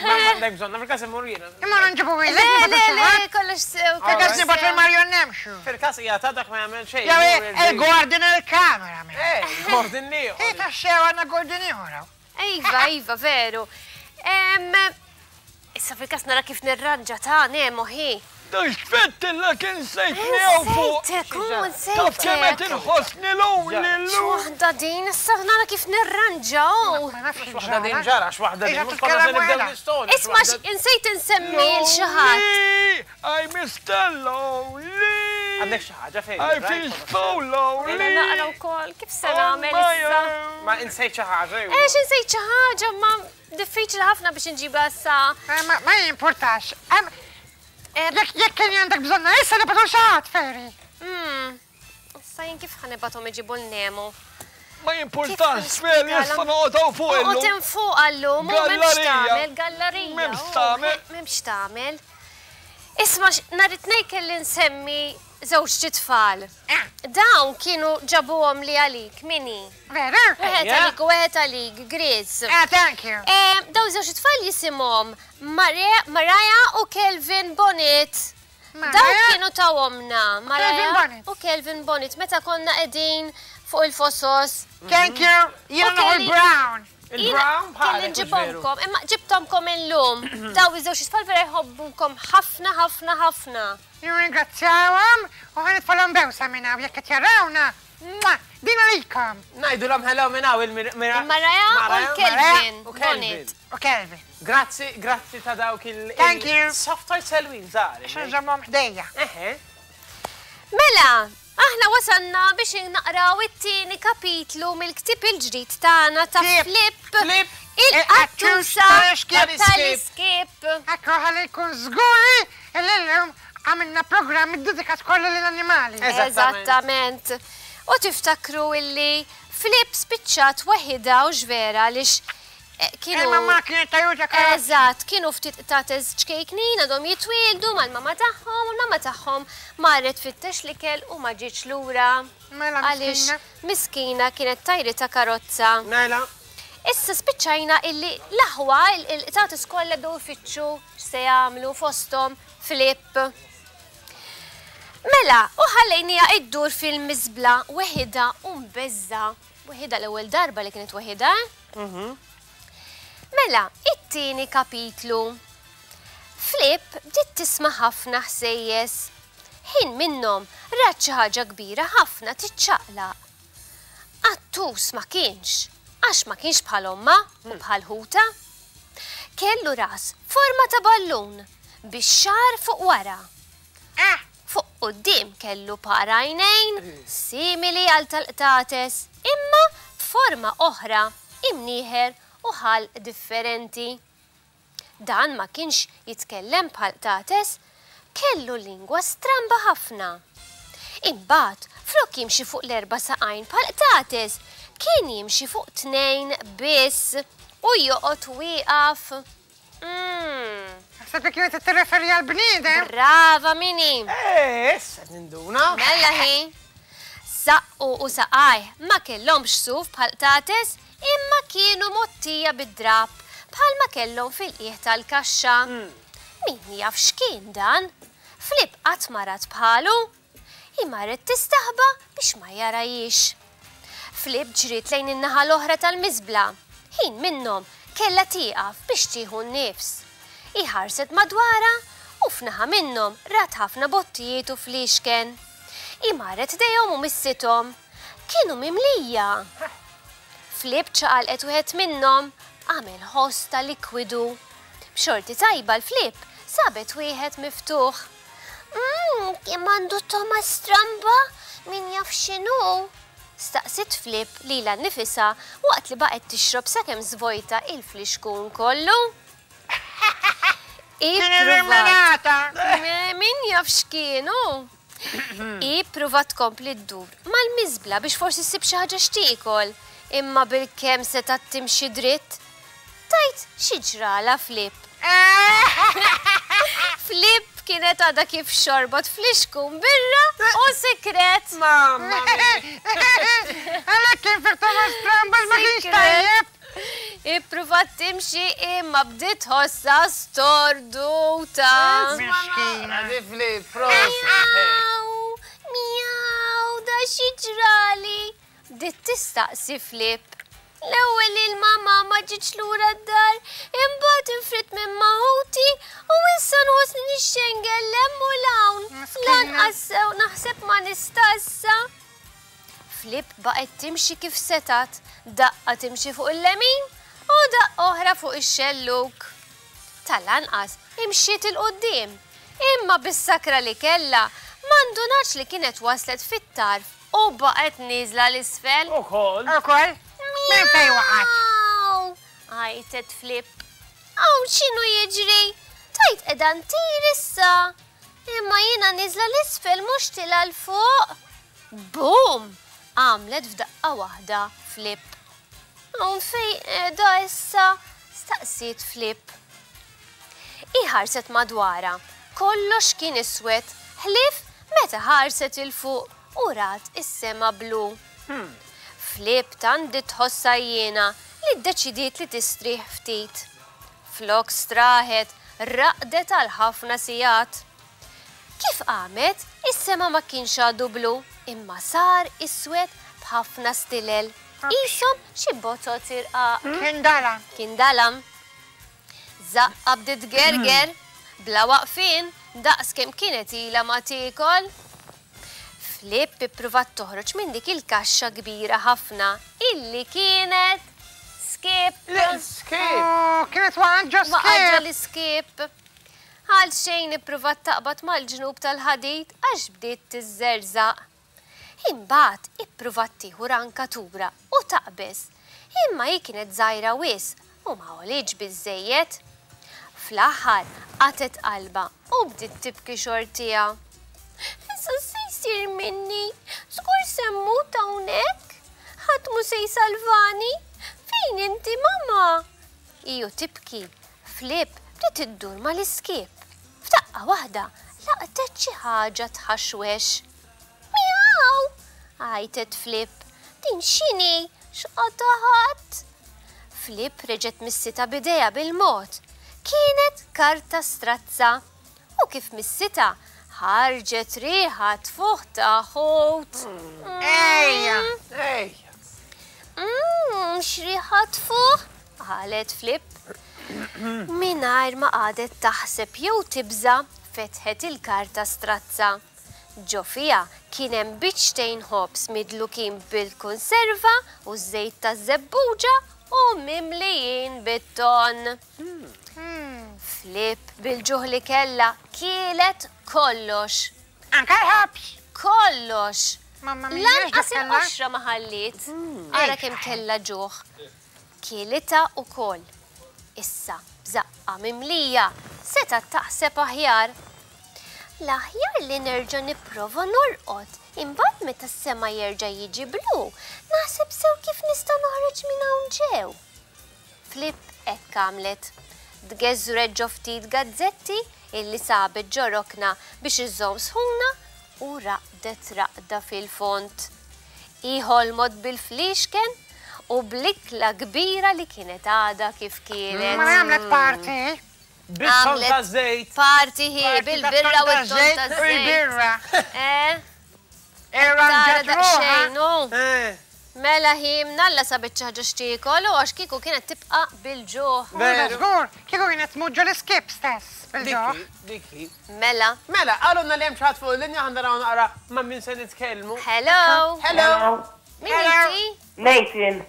Ma għandek bżonn, fil-każ immur jiena. Imma nġibu Le, ilek. le, le, kollox sew. Fil-każ nibgħatu l-Marion nemxu. Fil-każ hija ta' dak ma jagħmel xejn. Jew il-Gordon il-kamera. Eh, Gordon ieħor. Hi taxxew għandna Gordon ieħor. Iva, iva, veru. Issa fil-każ nara kif nirranġa ta' Nemo hi. Xfettilla kien sejtni hawn fuq. Nsejtek, u nsejtek. Taf kemm qed inħossni lonely llum. X'waħda din, issa nara kif nirranġa. Ma nafx X'waħda din ġara, x'waħda din. Mhux konna se nibdew l-istorja. Isma' insejt insemmi l xi ħadd. I Mister Lonely. Għandek xi ħaġa fejn. I feel so lonely. Jiena naqra wkoll kif se nagħmel issa. Ma insejt xi ħaġa. Ex insejt xi ħaġa, ma diffiċli ħafna biex inġibha issa. Ma jimportax. Jekk kien għandek bżonna issa nibgħatu xi ħadd, Feri. Issa jien kif ħanibathom iġibu l-Nemo? Ma jimportax, Feri, issa noqgħod fuq illum. Noqgħod fuq għallum, u m'hemmx tagħmel, gallerija. M'hemmx tagħmel. M'hemmx tagħmel. Isma' nhar it-tnejn kelli nsemmi żewġ tfal. Dawn kienu ġabuhom li għalik, Mini. Veru? Wieħed għalik u wieħed għalik, Grizz. Ah, thank you. Dawn żewġ tfal jisimhom Mariah u Kelvin Bonnet. Dawn kienu tawhomna, Mariah u Kelvin Bonnet, meta konna qegħdin fuq il-fosos. Thank you. Jiena noħol brown. Il-brown Kelli nġibhomkom, imma ġibtomkom illum. Dawn iż-żewġ tfal vera jħobbukom ħafna ħafna ħafna. Nirringrazzjawhom u ħanitfalhom bewsa minn hawn jekk qed jarawna. Din għalikom. Ngħidulhom hello minn hawn il-Mariah u l-Kelvin. U Kelvin. U Kelvin. Grazzi, grazzi ta' dawk il- Thank you. Soft toy selwin żgħar. X'inżommhom ħdejja. Eħe. Mela, aħna wasalna biex naqraw it-tieni kapitlu mill-ktieb il-ġdid tagħna ta' Flip. Flip. Il-qattusa tal-iskip. Ekku ħalli jkun żguri illum għamilna programm iddedikat kollu lill-annimali. Eżattament. U tiftakru illi Flip spiċċat waħida u x'vera għaliex kienu. Il-mamma kienet tajuta karozza. Eżatt, kienu ftit qtates ċkejknin għadhom jitwieldu mal-mamma tagħhom u l-mamma tagħhom marret tfittex l-ikel u ma ġietx lura. Mela Għaliex miskina kienet tajritha karozza. Mela. Issa spiċċajna illi l-aħwa il-qtates kollha bdew ifittxu x'se jagħmlu fosthom Flip. Mela, u ħallejniha iddur fil-miżbla weħidha u mbeżża. Weħidha l-ewwel darba li kienet weħidha. Mela, it-tieni kapitlu. Flip bdiet tisma' ħafna ħsejjes. Ħin minnhom rat xi ħaġa kbira ħafna tiċċaqlaq. Qattus ma kienx, għax ma kienx bħal ommha u bħal ħuta. Kellu ras forma ta' ballun bix-xagħar fuq wara. Fuq quddiem kellu par għajnejn simili għal tal-qtates, imma b'forma oħra, imnieħer u ħalq differenti. Dan ma kienx jitkellem bħal qtates, kellu lingwa stramba ħafna. Imbagħad, flok jimxi fuq l-erba' saqajn bħal qtates, kien jimxi fuq tnejn biss u joqgħod wieqaf. Naħseb li kienet tirreferi għal bniedem. Brava Mini. Eh, issa ninduna. Mela hi. Saqqu u saqajh ma kellhomx suf bħal qtates, imma kienu mottija bid-drapp bħalma kellhom fil-qiegħ tal-kaxxa. Min jaf x'kien dan? Flip qatt ma rat bħalu. Hi marret tistaħba biex ma jarajiex. Flip ġriet lejn in-naħa l-oħra tal-miżbla. Ħin minnhom kellha tieqaf biex tieħu n-nifs. Hi ħarset madwarha u f'naħa minnhom rat ħafna bottijiet u fliexken. Hi marret ħdejhom u missithom. Kienu mimlija. Flip ċaqalqet wieħed minnhom, għamel ħoss ta' likwidu. B'xorti tajba l-Flip sabet wieħed miftuħ. Mm, kemm għandu togħma stramba, min jaf x'inhu? Staqsiet Flip lilha nnifisha waqt li baqgħet tixrob sakemm żvojta il-flixkun kollu. Kien illuminata. Min jaf x'kienu? Hi ppruvat tkompli ddur mal-miżbla biex forsi ssib xi ħaġa x'tiekol, imma bilkemm setgħet timxi dritt. Tajt xi ġralha Flip. Flip kienet għadha kif xorbot flixkun birra u sikret. Mamma mia. Għalhekk kien fih togħma stramba ma kienx tajjeb. Ippruvat timxi imma bdiet tħossha storduta. Miskina. Di Flip, prosit. Miaw, miaw, da xi ġrali. Bdiet tistaqsi Flip. L-ewwel il-mama ma ġietx lura d-dar, imbagħad infridt minn ma' ħuti u issa nħossni nixxengel 'l hemm u 'l hawn. Lanqas sew naħseb ma nista' issa. Flip baqgħet timxi kif setgħet, daqqa timxi fuq il-lemin u daqqa oħra fuq ix-xelluk. Tal-anqas imxiet 'il quddiem, imma bis-sakra li kellha ma ndunax li kienet waslet fit-tarf u baqgħet nieżla 'l isfel. Ukoll. Ukoll? Minn fejn waqgħet? Miaw! Għajtet Flip. Hawn x'inhu jiġri? Tajt qiegħda ntir issa. Imma jiena nieżla 'l isfel mhux tilgħa 'l fuq. Boom! Għamlet f'daqqa waħda Flip. Hawn fejn qiegħda issa? Staqsiet Flip. Hi ħarset madwarha. Kollox kien iswed, ħlief meta ħarset 'il fuq u rat is-sema blu. Flip tant bdiet tħossha jiena li ddeċidiet li tistrieħ ftit. Flok straħet, raqdet għal ħafna sigħat. Kif qamet, is-sema ma kienx għadu blu, imma sar iswed b'ħafna stilel. Qishom xi botot irqaq. Kien dalam. Kien dalam. Żaqqa bdiet tgerger, bla waqfien, daqs kemm kienet ilha ma tiekol. Flip ippruvat toħroġ minn dik il-kaxxa kbira ħafna illi kienet skip. Skip. Oh, kienet waqgħet ġo Waqgħet ġo skip. l-iskip. Għal xejn ippruvat taqbad mal-ġnub tal-ħadid għax bdiet tiżżerżaq. Imbagħad ippruvat tieħu rankatura u taqbeż, imma hi kienet żgħira wisq u ma għolitx biżżejjed. Fl-aħħar qatgħet qalbha u bdiet tibki xortiha. Issa se jsir minni, żgur se mmut hawnhekk. Ħadd mhu se li jsalvani. Fejn inti, mamma? Iju tibki, Flip bdiet iddur mal-iskip. F'daqqa waħda laqtet xi ħaġa tħaxwex. Miaw! Għajtet Flip. Din x'inhi? X'qata ħadd? Flip reġgħet missitha b'idejha bil-mod. Kienet karta strazza. U kif missitha, ħarġet riħa tfuħ ta' ħut. Ejja! Ejja! Mmm, x'riħa tfuħ? Qalet Flip. Mingħajr ma qagħdet taħseb jew tibża, fetħet il-karta strazza. Ġo fiha kien hemm biċċtejn ħobż midlukin bil-konserva u żejt taż-żebbuġa u mimlijin bit-ton. Flip bil-ġuħ li kellha kielet kollox. Anke l-ħobż! Kollox! Mamma mia, Lanqas x'dak kellha? il-qoxra ma ħalliet. Ara kemm kellha ġuħ. Kielitha wkoll. Issa, b'żaqqa mimlija, setgħet taħseb aħjar. L-aħjar li nerġa' nipprova norqod, imbagħad meta s-sema jerġa' jiġi blu, naħseb sew kif nista' noħroġ minn hawn ġew. Flip hekk għamlet. Tgeżwret ġo ftit gazzetti illi sabet ġo rokna biex iżżomm sħuna u raqdet raqda fil-fond. Hi ħolmot bil-fliexken u bl-ikla kbira li kienet għadha kif kienet. Ma għamlet party. Bit-ton Għamlet ta' żejt. Party hi Party bil-birra u ta' t-ton żejt ta' u żejt. l-birra. Eh? Tara Irranġat ruħha. daqsxejn, hu. Eh. Mela hi mnalla sabet xi ħaġa x'tiekol u għax kieku kienet tibqa' bil-ġuħ. Mela żgur, kieku kienet tmut ġo l-iskip stess bil-ġuħ. Dik hi, dik hi. Mela. Mela, qalulna li hemm xi ħadd fuq il-linja, ħa naraw naqra ma' min se nitkellmu. Hello. Hello. Min inti? Nathan.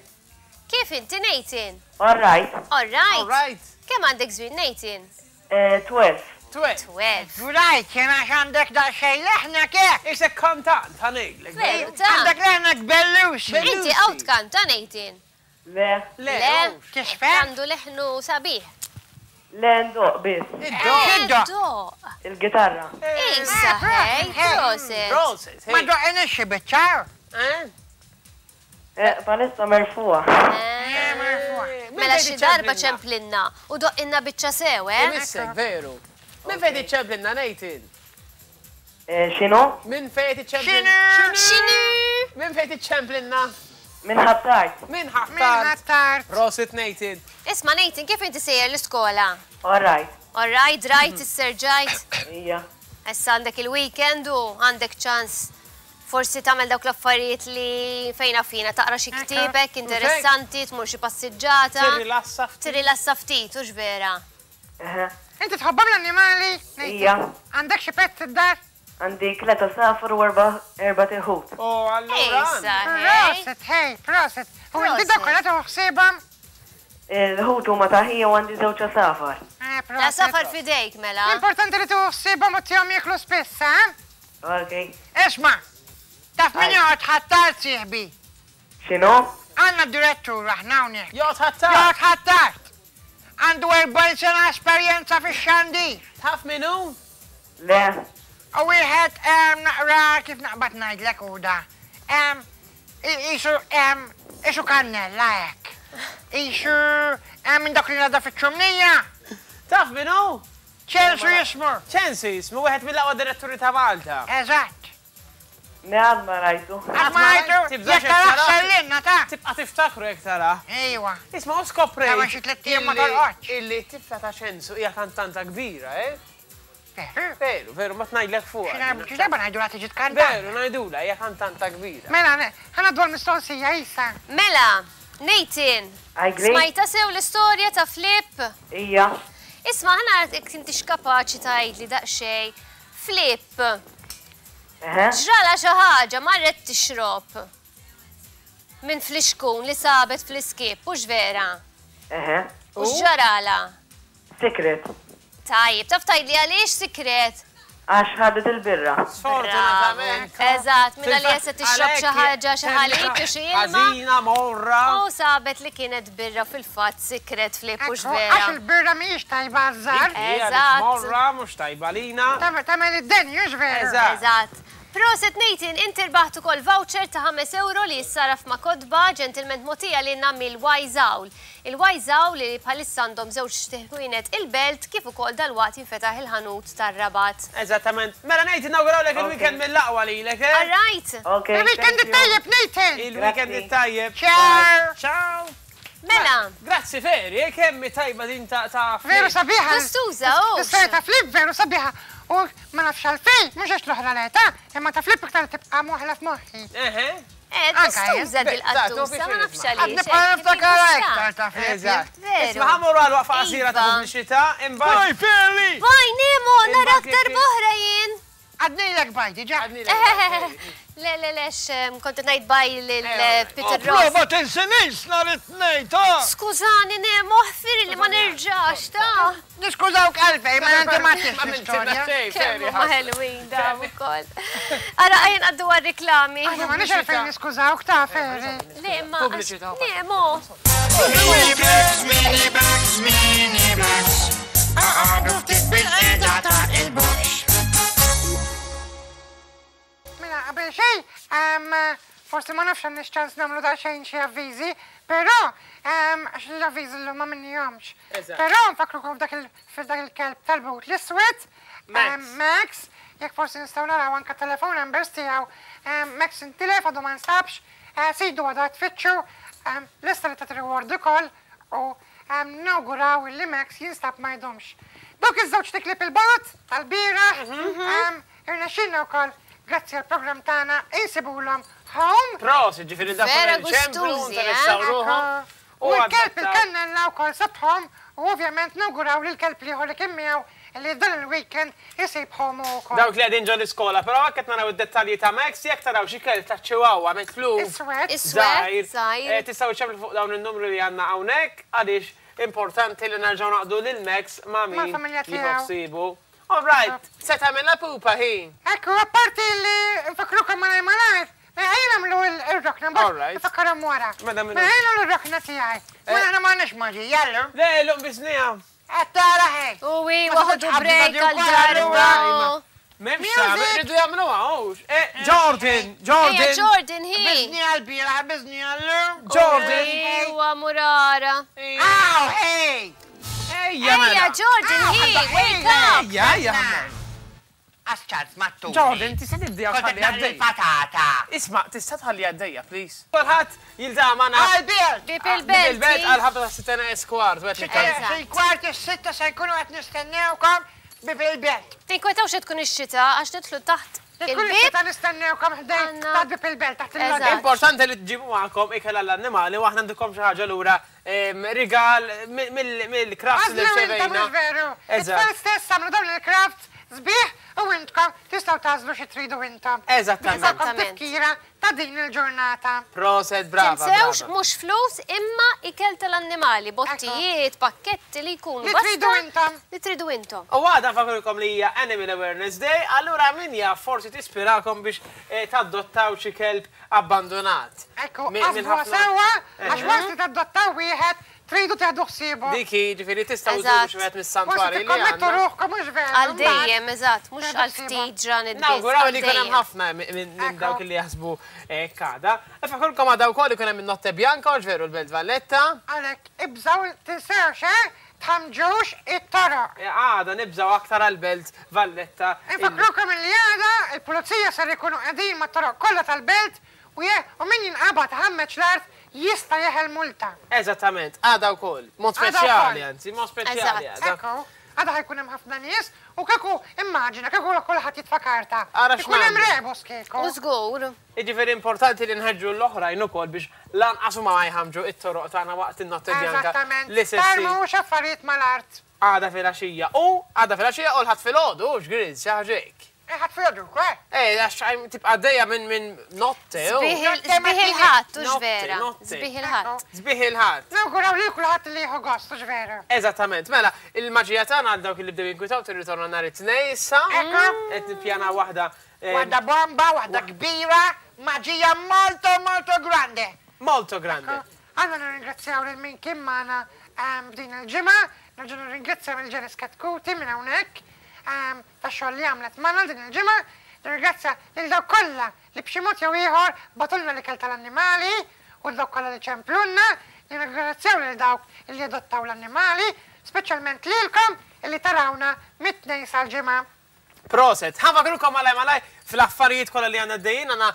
Kif inti, Nathan? All right. All right. All right. Kemm għandek żmien, Nathan? Eh, twelve. Twelve. Twelve. Right, jien għax għandek daqsxejn leħnek hekk. Isek kantant, ħa ngħidlek. Veru, ta' Għandek leħnek belluxi. Inti hawn tkanta, Nathan? Le. Le. Le. Tisfer? Għandu leħnu sabiħ. Le, ndoqq biss. Iddoqq. Iddoqq. Iddoqq. Il-gitarra. Issa, hej, proset. Proset, Ma hej. doqqinix xi biċċa. Eh? Eh, palissa merfuha. Eh, Min Mela fejn xi darba iċċemplinna? ċemplinna u doqqinna biċċa sew, eh? Imissek, veru. Min fejn iċċemplinna, Nathan? Eh, x'inhu? Min fejn iċċemplinna? X'inhu? X'inhu? Min fejn iċċemplinna? Min Ħ'Attard. Min Min Ħ'Attard? Ħ'Attard. Prosit, Nathan. Isma' Nathan, kif inti sejjer l-iskola? All right. All right, right, isserġajt. Ija. Issa għandek il-weekend u għandek ċans forsi tagħmel dawk l-affarijiet li fejna fina, taqra xi ktieb hekk interessanti, tmur xi passiġġata. Tirrilassa ftit. Tirrilassa ftit, hux vera? Eħe. Inti tħobbhom l-annimali? Ija. Għandek xi pet id-dar? Għandi tliet għasafar u erba' erbat iħut. Oh, allura. Issa, hej. Proset, hej, proset. U inti Proset. dak kollha tieħu ħsiebhom? Il-ħut huma ta' ħija u għandi żewġ għasafar. Eh, La proset. safar fidejk, mela. L-importanti li tieħu ħsiebhom u tihom jieklu spiss, eh? Ok. Isma', taf min joqgħod Ħ'Attard sieħbi? X'inhu? Għandna direttur aħna hawnhekk. Joqgħod Ħ'Attard. Joqgħod Ħ'Attard. Għandu erbgħin sena esperjenza fix-xandir. Taf min hu? Le. U wieħed em, naqra kif naqbad ngħidlek u da. Em, i- Isu em, isu kannella hekk. Isu em, minn dak li nada fiċ-ċumnija. Taf min hu? Ċensu jismu. Ċensu jismu, wieħed mill-aqwa diretturi ta' Malta. Eżatt. Ne għad ma rajtu. Għad ma rajtu, Tibżax jekk tarax jekk tarax. sellinna ta' Tibqa' tiftakru jekk tara. Ejwa. Isma' u skoprejt. Ta' xi tliet ijiem ma illi- torqodx. Illi t-tifla ta' Ċensu hija kantanta kbira, eh? Veru. Veru, veru, ma tnajdlek fuq. Xi darba ngħidula tiġi tkanta. Veru, ngħidula, hija kantanta kbira. Mela, ħa ngħaddu għall-mistoqsija issa. Mela, Nathan, Għajgri? smajta sew l-istorja ta' Flip? Ija. Isma' ħa nara jekk intix kapaċi tgħidli daqsxejn. Flip, Eħe. ġrala xi ħaġa marret tixrob minn flixkun li sabet fl-iskip, hux vera? Eħe. U x'ġarala? Sikret. Tajjeb, taf tgħidli għaliex sikret? Għax ħadet il-birra. Sfortunatament. Eżatt, minna li jessa tixrob xi ħaġa, xi ħalib jew xi ilma. Ħażina morra. U sabet li kienet birra fil-fatt sikret Flip, hux Ekku, vera? Għax il-birra mhijiex tajba għaż-żgħar. Eżatt. Morra, mhux tajba lina. Tagħmel id-denju, hux veru? Eżatt. Eżatt. Proset Nathan, inti rbaħt ukoll voucher ta' ħames euro li jissaraf ma' kotba ġentilment mogħtija lilna mill-Wise Owl. Il-Wise Owl li bħalissa għandhom żewġ ħwienet il-Belt kif ukoll dalwaqt jinfetaħ il-ħanut tar-Rabat. Eżattament. Mela Nathan, nawgurawlek il-weekend mill-aqwa lilek, eh? All right. Okay. Il-weekend it-tajjeb, Nathan! Il-weekend it-tajjeb. Ciao! Ciao! Mela. Grazzi Feri, eh, kemm tajba din ta' ta' Veru sabiħa. Gustuża, oh. L-istorja ta' Flip veru sabiħa. U ma nafx għalfejn, mhux għax l-oħra l-età, imma ta' Flip iktar tibqa' moħla f'moħħi. Eħe. Eh, gustuża dil-qattusa, ma nafx għaliex. Għad nibqa' niftakar iktar ta' Flip. Eżatt. Veru. Isma' ħa mmorru għal waqfa qasira ta' Iva. pubbliċità, imbagħad. Bye, Feri! Bye, Nemo, narak darb'oħra jien. Għadnilek bye, diġà. Le, le, le, kont ngħid bye lil Peter Pro, Ross. ma tinsinix nhar it-Tnejn, ta' Skużani, Nemo, ħfir li ma nerġax, ta' Niskużawk għalfejn, ma inti ma tix Ma l-istorja. Kemm huma ħelwin dawn ukoll. Ara, ejja ngħaddu għar-reklami. Aħna ma nix għalfejn niskużawk ta' Feri. Le, ma Pubbliċità. Nemo. Mini Bugs, Mini Bugs, Mini Bugs. Aqgħodu ftit bil-qiegħda ta' il-box. Mela, qabel xejn, ehm, forsi ma nafx għandix ċans nagħmlu daqsxejn xi avviżi, però ehm, għax l-avviżi llum ma minnihomx. Eżatt. Però nfakkrukom f'dak il- f'dak il-kelb tal-but l-iswed, ehm, Max, jekk forsi nistgħu naraw anke telefon numbers tiegħu, ehm, Max intilef għadu ma nstabx, eh, sidu għadha tfittxu, ehm, lista li ta' reward ukoll u ehm, nawguraw li Max jinstab ma jdumx. Dawk iż-żewġ tiklib il-bot tal-bieraħ, ehm, irnexxilna wkoll grazzi għal program tagħna insibulhom home. Prosit, ġifieri dak Vera il-ċemplu, gustużi, eh? interessaw ruħhom. U l-kelb il-kannella wkoll sabħom u ovvjament nawguraw li l-kelb liħor li kien miegħu li dan il-weekend isib home ukoll. Dawk li qegħdin ġo l-iskola, però hekk qed naraw id-dettalji ta' Max, jekk taraw xi kelb ta' Chihuahua mitluf. Iswed. Iswed, żgħir. Eh, Tistgħu ċemplu fuq dawn in-numru li għandna hawnhekk għaliex importanti li nerġgħu naqdu lil Max ma' min Mal-familja tiegħu. jieħu ħsiebu. All right, se tagħmilha pupa hi. Ekku, apparti li nfakrukom malaj malajr, ejja nagħmlu il-rokna, All right. mbagħad nfakkarhom wara. Mela, mela. Mela ejja nagħmlu r-rokna tiegħi. Mela aħna m'għandniex maġija llum. Le, llum biżnija. Qed tara ħej. U wi, Ma waħdu tistax break tqabbdu għal wkoll darba. M'hemmx Music! tagħmel, rridu jagħmluha hux. Eh, Jordan, Jordan. Ejja, Jordan, hi. Biżni għal-bieraħ, biżni għal-lum. Jordan. Ejwa, murara. Aw, hey! Ejja, Ejja, mela. Jordan, hi, wake up. Ejja, ejja. Għax ċans mattu. Jordan, tista' tibdi Kont tħalli qed naqli għaddejja. patata. Isma', tista' tħalli għaddejja, please. Kulħadd jiltaqa' magħna Għal-belt! Bib il-belt il-belt. għal ħabta ta' sitta eskwart. Fil-kwart is-sitta se nkunu qed nistennewkom bib il-belt. Tinkwetawx tkun ix-xita għax nidħlu taħt Tkun il-bib. is-sitta nistennewkom ħdejn Għanna- ta' bib il-belt taħt il-lodda. Eżatt. Importanti li tġibu magħkom ikel għall-annimali u aħna għandkom xi ħaġa lura em, rigal mill-crafts li Għażlu intom rċevejna. mhux veru. Eżatt. It-tfal stess għamlu dawn il-crafts sbieħ u intkom tistgħu tagħżlu xi tridu intom. Eżattament. Ikolkom Eżattament. tifkira ta' din il-ġurnata. Proset, brava. Tinsewx brava. mhux flus imma ikel tal-annimali, bottijiet, pakketti li jkunu. Li basta tridu intom. Li tridu intom. U għada nfakrukom li hija Animal Awareness Day, allura min jaf forsi tispirakom biex eh, tadottaw xi kelb abbandonat. Ekku, Min- min għażlu ħafna- sewwa għax waqt li tadottaw wieħed tridu teħdu ħsiebu. Diki, ġifieri tistgħu Eżatt. żuru xi wieħed Forsi mis-santwarji li tikkommettu għandna. ruħkom mhux veru. Għal dejjem, eżatt, mhux Teħdu għal ħsiebu. ftit ġranet biss. Nawguraw għal li jkun hemm dejjem. ħafna minn minn Ekku. dawk li jaħsbu eh, kada. Nfakrukom għada wkoll ikun hemm in-Notte Bianca, u ġveru l-Belt Valletta. Għalhekk ibżaw tinsewx, eh? Tħamġux it-toroq. Eh, Għada nibżaw aktar għal-Belt Valletta. Infakrukom li għada il-pulizija ser ikunu qegħdin mat-toroq kollha tal-belt u je u min jinqabad ħammeġ l-art jista' jeħel multa. Eżattament, għada wkoll. Mod Għada speċjali, wkoll. anzi, mod speċjali Eżatt. għada. Ekku, għada ħajkun hemm ħafna nies u kieku immaġina kieku kulħadd jitfa' karta. Ara Ikun hemm x'nagħmlu. rebus kieku. U żgur. Jiġifieri importanti li nħeġġu l-oħrajn ukoll biex lanqas huma ma jħamġu it-toroq tagħna waqt in-Notte Bianca Eżattament. li se ssir Tarmux affarijiet mal-art. għada filgħaxija. U għada filgħaxija u l-ħadd filgħodu, x'griż, xi ħaġa hekk. Ħadd filgħodu wkoll. Eh, għax għajm tibqa' għaddejja minn minn notte. u. Sbieħ il- Sbieħ il-ħadd, u Notte, vera. notte. Sbieħ il-ħadd. Sbieħ il-ħadd. Nawguraw li kulħadd li jieħu gost, hux veru. Eżattament, mela, il-maġija tagħna għal dawk li bdew jinkwitaw tirritorna nhar it-tnejn issa. Ekku. Qed nippjana waħda eh, Waħda bomba, waħda kbira, maġija molto molto grande. molto grande. Għanna nirringrazzjaw lil min kien magħna ehm, f'din il-ġimgħa, nerġa' nirringrazzjaw lil Ġenis Katkuti minn hawnhekk ehm, tax-xogħol li għamlet magħna din il-ġimgħa, Nirringrazzja lil dawk kollha li b'xi mod jew ieħor bagħtulna l-ikel tal-annimali u dawk kollha li ċemplunna. Nirringrazzjaw lil dawk li adottaw l-annimali, speċjalment lilkom illi tarawna mit-Tnejn sal-Ġimgħa. Proset, ħa nfakkrukom malaj malaj fl-affarijiet kollha li għandna d-dejjin, għandna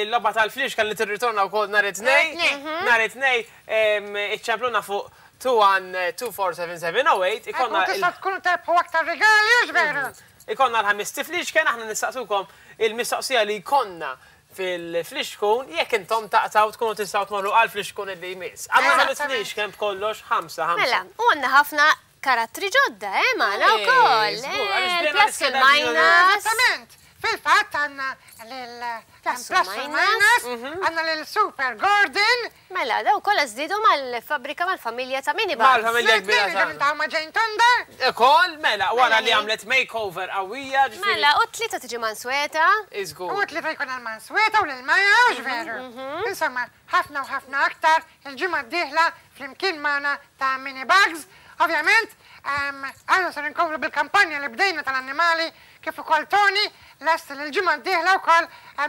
il-logħba tal-flixken li tirritorna wkoll nhar it-Tnejn. Nhar it-Tnejn iċċempluna fuq two one two four seven seven oh eight. Ikonna Tista' tkunu terbħu aktar regali, hux veru? Ikonna l-ħames tiflixken, aħna nistaqsukom il-mistoqsija li jkollna fil-flixkun, jekk intom taqtaw tkunu tistgħu tmorru għal flixkun li jmiss. Għandna ħames flixken b'kollox ħamsa, ħamsa. Mela, u għandna ħafna karattri ġodda, eh, magħna Eh, wkoll, żgur, eh, għaliex bdejna plus l-iskeda il-minus. Eżattament. Fil-fatt għandna lil Plus plus u u minus. minus, għandna lil Super Gordon. Mela, daw kollha żdiedu mal-fabrika mal-familja ta' Mini Bugs. Mal-familja kbira Mela, tagħna. ta' ma' Jane Thunder. Ukoll, mela, wara Mela, li għamlet makeover qawwija, ġifieri. Mela, u tlieta tiġi Mansweta. Iżgur. U tlieta jkun għal Mansweta u lil Maja, hux veru. Insomma, ħafna u ħafna aktar il-ġimgħa d-dieħla flimkien magħna ta' Mini Bugs. Ovvjament, aħna ser inkomplu bil-kampanja li bdejna tal-annimali kif ukoll Tony lest li l-ġimgħa d-dieħla wkoll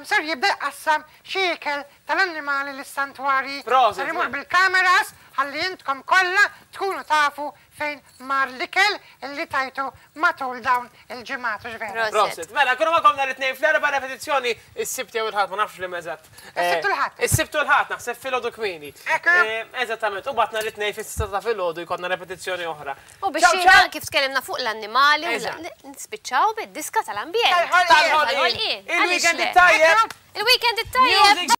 ser jibda jqassam xi ikel tal-annimali lis-santwarji. Proset, Ser imur mela. bil-kameras ħalli intkom kollha tkunu tafu fejn mar l-ikel illi tajtu matul dawn il-ġimgħat, hux veru? Proset. Mela, kunu magħkom nhar it-Tnejn fl-erba' repetizzjoni is-Sibt jew il-Ħadd, ma nafx li eżatt. Is-Sibt u l-Ħadd. Is-Sibt u l-Ħadd, naħseb filgħodu kmieni. Ekku. Eh, eżattament, u bat nhar it-Tnejn fis-sitta ta' filgħodu jkollna repetizzjoni oħra. U biex Ciao, jiena ciao. kif tkellimna fuq l-annimali u Eżatt. nispiċċaw bid-diska tal-ambjent. Tal-ħolqien. Tal-ħolqien. Tal-ħolqien. Il-weekend Għaliex le? it-tajjeb. Il-weekend it-tajjeb. Music.